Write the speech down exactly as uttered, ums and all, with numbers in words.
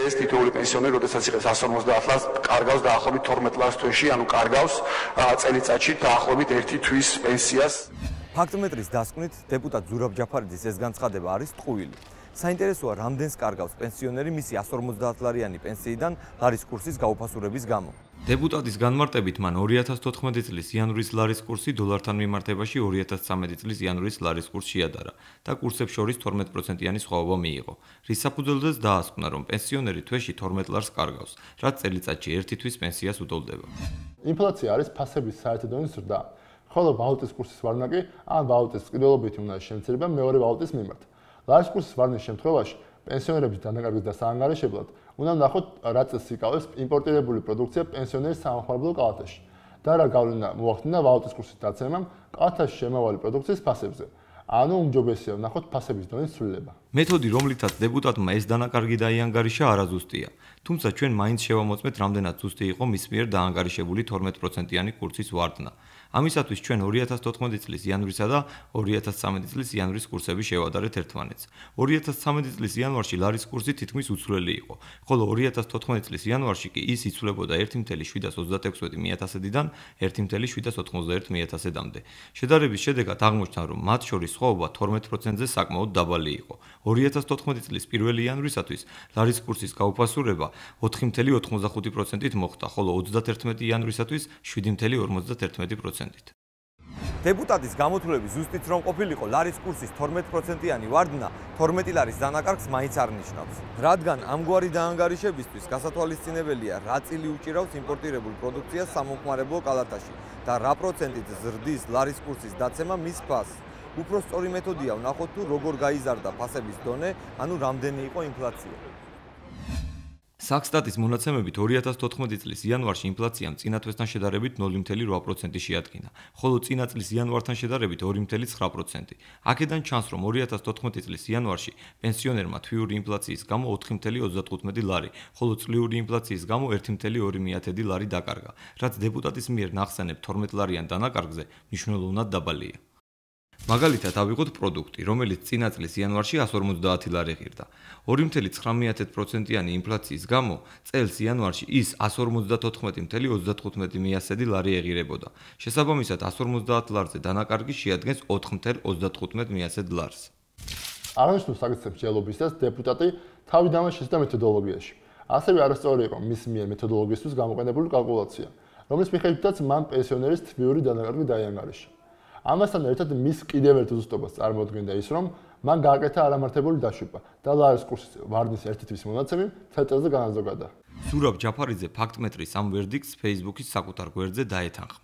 ეს თითოეული პენსიონერი, როდესაც იღებს εκατს ორმოცდაათ ლარს, კარგავს დაახლოებით თორმეტ ლარს თვეში, ანუ კარგავს წელიწადში დაახლოებით ერთი თვის პენსიას. ფაქტმეტრის დასკვნით დეპუტატ ზურაბ ჯაფარიძის ეს განცხადება არის ტყუილი. საინტერესოა, რამდენს კარგავს პენსიონერი მისი εκατს ორმოცდაათ ლარიანი პენსიიდან ლარის კურსის გაუფასურების გამო. დეპუტატის განმარტებით მან ორი ათას თოთხმეტი წლის იანვრის ლარის კურსი დოლართან მიმართებაში ორი ათას ცხრამეტი წლის იანვრის ლარის კურსს შეადარა და კურსებს შორის თორმეტ პროცენტიანი სხვაობა მიიღო. რის საფუძველზეც დაასკვნა, რომ პენსიონერი თვეში თორმეტ ლარს კარგავს, რაც წელიწადში ერთი თვის პენსიას უდოლდება. ინფლაცია არის ფასების საერთო დონის ზრდა, ხოლო ვალუტის კურსის ვარნა კი ან ვალუტის წყვილობითი უნდა შემცირება მეორე ვალუტის მიმართ. ლარის კურსის ვარნის შემთხვევაში პენსიონერების დანაკარგის და საანგარიშებლად უნდა ნახოთ, რა წელს იკავებს იმპორტირებული პროდუქცია პენსიონერის სამხმარებლო კალათაში და რა გავლენა მოახდინა ვალუტის კურსის დაცემამ კალათაში შემავალი პროდუქციის ფასებზე. ანუ უმჯობესია ვნახოთ ფასების დონის ცვლილება. მეთოდი, რომლითაც დეპუტატმა ეს დანაკარგი დაიანგარიშა, არაზუსტია. თუმცა ჩვენ მაინც შევამოწმეთ, რამდენად ზუსტი იყო მის მიერ დაანგარიშებული თორმეტ პროცენტიანი კურსის ვარდნა. ამისათვის ჩვენ ორი ათას თოთხმეტი წლის იანვრისა და ორი ათას ცხრამეტი წლის იანვრის კურსები შევადარეთ ერთმანეთს. ორი ათას ცხრამეტი წლის იანვარში ლარის კურსი თითქმის უცვლელი იყო, ხოლო ორი ათას თოთხმეტი წლის იანვარში კი ის იცვლებოდა ერთი ათეული ოცდაექვსი მიათასედან ერთი ათეული ოცდაოთხმოცდაერთი მიათასედამდე. შედარების შედეგად აღმოჩნდა, რომ მათ შორის სხვაობა თორმეტ პროცენტზე საკმაოდ დაბალი იყო. ორი ათას თოთხმეტი წლის პირველი იანვრისათვის ლარის კურსის გაუფასურება ოთხი ათეული ოცდახუთი პროცენტით მოხდა, ხოლო ოცდაათერთმეტი იანვრისათვის შვიდი ათეული ორმოცდაერთმეტი პროცენტით. დეპუტატის გამოთვლები ზუსტით რომ ყოფილიყო, ლარის კურსის თორმეტ პროცენტიანი ვარდნა თორმეტი ლარის დანაკარგს მაინც არ ნიშნავს. რადგან ამგვარი დაანგარიშებისთვის გასათვალისწინებელია, რა წილი უჭირავს იმპორტირებულ პროდუქციას სამომხმარებლო კალათაში და რა პროცენტით ზრდის ლარის კურსის დაცემა მის ფასს. უფრო სწორი მეთოდია ვნახოთ თუ როგორ გაიზარდა ფასების დონე, ანუ რამდენი იყო ინფლაცია. საქსტატის მონაცემებით ორი ათას თოთხმეტი წლის იანვარში ინფლაციამ წინა თვესთან შედარებით ნული ათეული რვა პროცენტი შეადგინა, ხოლო წინა წლის იანვართან შედარებით ორი ათეული ცხრა პროცენტი. აქედან ჩანს, რომ ორი ათას თოთხმეტი წლის იანვარში პენსიონერმა თვიური ინფლაციის გამო ოთხი ათეული ოცდათხუთმეტი ლარი, ხოლო წლიური ინფლაციის გამო ერთი ათეული ორი მიათედი ლარი დაკარგა, რაც დეპუტატის მიერ ნახსენებ თორმეტ ლარიან დანაკარგზე მნიშვნელოვნად დაბალია. მაგალითად ავიღოთ პროდუქტი, რომელიც წინა წლის იანვარში εκατს ორმოცდაათი ლარი ღირდა. ორი ათეული ცხრამეტი პროცენტიანი ინფლაციის გამო წელს იანვარში ის εκατს ორმოცდათოთხმეტი ათეული ოცდათხუთმეტი მიასედი ლარი ეღირებოდა. შესაბამისად εκατს ორმოცდაათ ლარზე დანაკარგი შეადგენს ოთხი ათეული ოცდათხუთმეტი მიასედ ლარს. აღნიშნულ საკითხებს შეელობისას დეპუტატი თავი დამაშეს და მეთოდოლოგიაში. ასევე არასწორი იყო მის მიერ მეთოდოლოგიისთვის გამოყენებული კალკულაცია, რომლის მიხედვითაც მან პენსიონერის თვიური დანაკარგი დაიანგარიშა. ამასთან ერთად მის კიდევ ერთ ზუსტობას წარმოადგენდა ის, რომ მან გააკეთა არამართებული დაშვება და ლარის კურსის ვარდნის ერთი თვის მონაცემი ცხრა წელზე განაზოგადა. ზურაბ ჯაფარიძე ფაქტმეტრის ამ ვერდიქტს Facebook-ის საკუთარ გვერდზე დაეთანხმა.